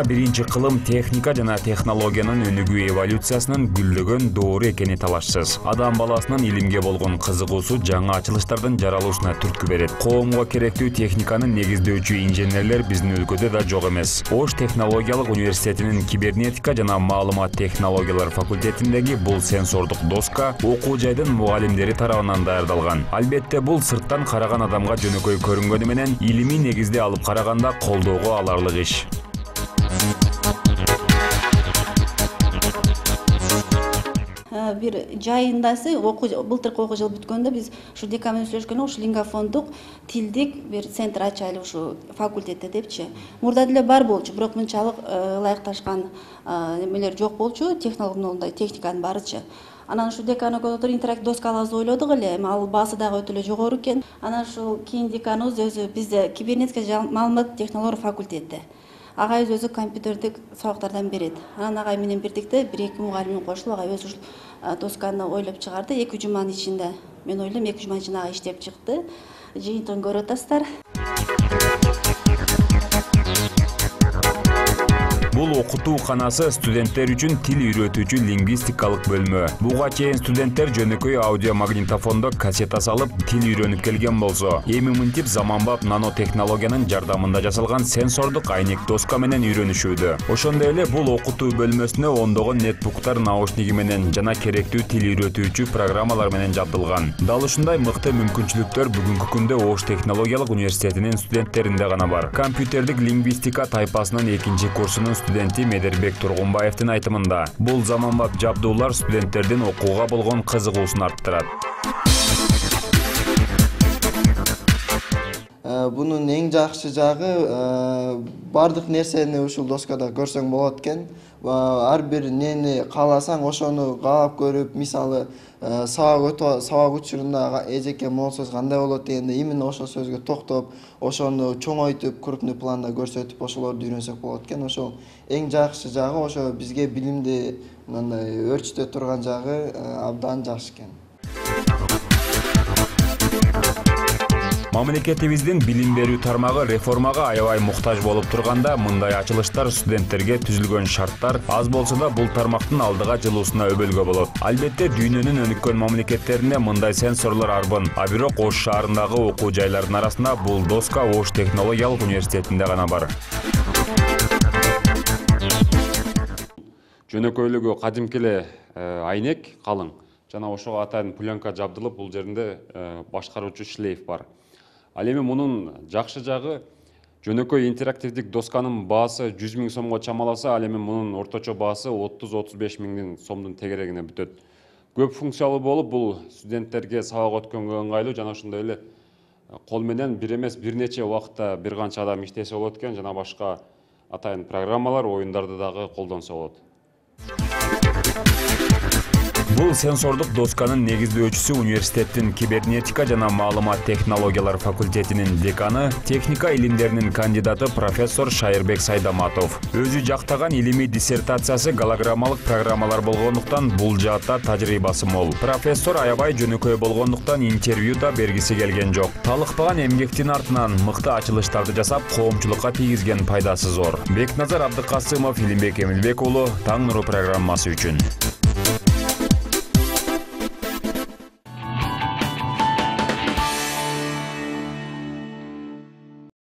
21 кылым техника жана технологиянын өнүгүү эволюциясынын гүлдөгөн доору экени талашсыз. Адам баласынын илимге болгон кызыгуусу жаңы ачылыштардын жаралуусуна түрткү берет. Коомго керектүү техниканы негиздөөчү инженерлер биздин өлкөдө да жок эмес. Ош технологиялык университетинин кибернетика жана маалымат технологиялар факультетиндеги бул сенсордук доска окуу жайдын мугалимдери тарабынан даярдалган. Албетте бул сырттан караган адамга жөнөкөй көрүнгөнү менен илимий негизде алып караганда колдоого аларлык иш. Бир жайындасы былтыркы окуу жыл бүткөндө биз ушу декан менен сүйлөшкөндө ушу лингофондук тилдик бир центр ачайлы ушу факультетте депчи. Мурда деле бар болчу, бирок мынчалык ылайыкташкан немелер жок болчу, технологиялык техниканын баарычы. Анан ушу декан өкүлдөр интерактив доска алабыз ойлодук эле, эми ал баасы дагы өтө эле жогору экен. Анан ушул кийин деканыбыз өзү бизде кибернетика жана маалымат технологиялар факультети. Агайыбыз өзү компьютердик сабактардан берет. Анан агай менен бирдикте 1-2 мугалим кошулуп агай өзү ушул досканы ойлоп чыгарды. 2 жуманын ичинде. Мен ойлойм 2 жуманын ичинде агай иштеп чыкты. Жыйынтыгын көрүп атасыздар. Бул окутууканасы студенттер үчүн тил үйрөтүүчү лингвистикалык бөлмө. Буга чейин студенттер жөнөкөй аудиомагнитофондо кассета салып тил үйрөнүп келген болсо, эми мынтип заманбап нанотехнологиянын жардамында жасалган сенсордук айнек доска менен үйрөнүшүүдө. Ошондой эле бул окутуу бөлмөсүнө ондогон нетбуктар наушниги менен жана керектүү тил үйрөтүүчү программалар менен жабдылган. Дал ушундай мыкты мүмкүнчүлүктөр бүгүнкү күндө Ош технологиялык университетинин студенттеринде гана бар. Компьютердик лингвистика тайпасынын 2-курсунун студенти Медербек Тургунбаевдин айтымында, бул заманбап жабдуулар студенттердин окууга болгон кызыгуусун арттырат. Бунун эң жакшы жагы бардык нерсени ушул доскада көрсөң болот экен. Ар бир нени кааласаң ошону каалап көрүп, мисалы сабак учурунда эжеке могул сөз кандай болот дегенде именно ошол сөзгө токтоп, ошону чоңойтуп, крупный планда көрсөтүп, ошолорду үйрөнсөк болот экен. Ошол эң жакшы жагы, ошо бизге билимди мындай өрчүтө турган жагы абдан жакшы экен. Мамлекетибиздин билим берүү тармагы реформага аябай муктаж болуп турганда, мындай ачылыштар студенттерге түзүлгөн шарттар аз болсо да бул тармактын алдыга жылуусуна өбөлгө болот. Албетте дүйнөнүн өнүккөн мамлекеттеринде мындай сенсорлор арбын, а бирок Ош шаарындагы окуу жайлардын арасында бул доска Ош технологиялык университетинде гана бар. Жөнөкөйлүгү кадимки эле айнек калың жана ошого атайын пленка жабдылып, бул жеринде башкаруучу шлейф бар. Ал эми мунун жакшы жагы жөнөкөй интерактивдик досканын баасы 100 000 сомго чамаласа, ал эми мунун орточо баасы 30-35 000 сомдун тегерегине бүтөт. Көп функциялуу болуп, бул студенттерге сабак өткөнгө ыңгайлуу жана ошондой эле кол менен бир эмес бир нече убакытта бир канча адам иштесе болот экен, жана башка атайын программалар, оюндарды дагы колдонсо болот. Бул сенсордук досканын негиздөөчүсү университеттин кибернетика жана маалымат технологиялар факультетинин деканы, техника илимдеринин кандидаты профессор Шайырбек Сайдаматов. Өзү жактаган илимий диссертациясы голограммалык программалар болгондуктан бул жаатта тажрыйбасы мол. Профессор аябай жөнөкөй болгондуктан интервью да бергиси келген жок. Талыкпаган эмгектин артынан мыкты ачылыштарды жасап, коомчулукка тийгизген пайдасы зор. Бекназар Абдыкасымов, Илимбек Эмилбек уулу, Таң нуру программасы үчүн.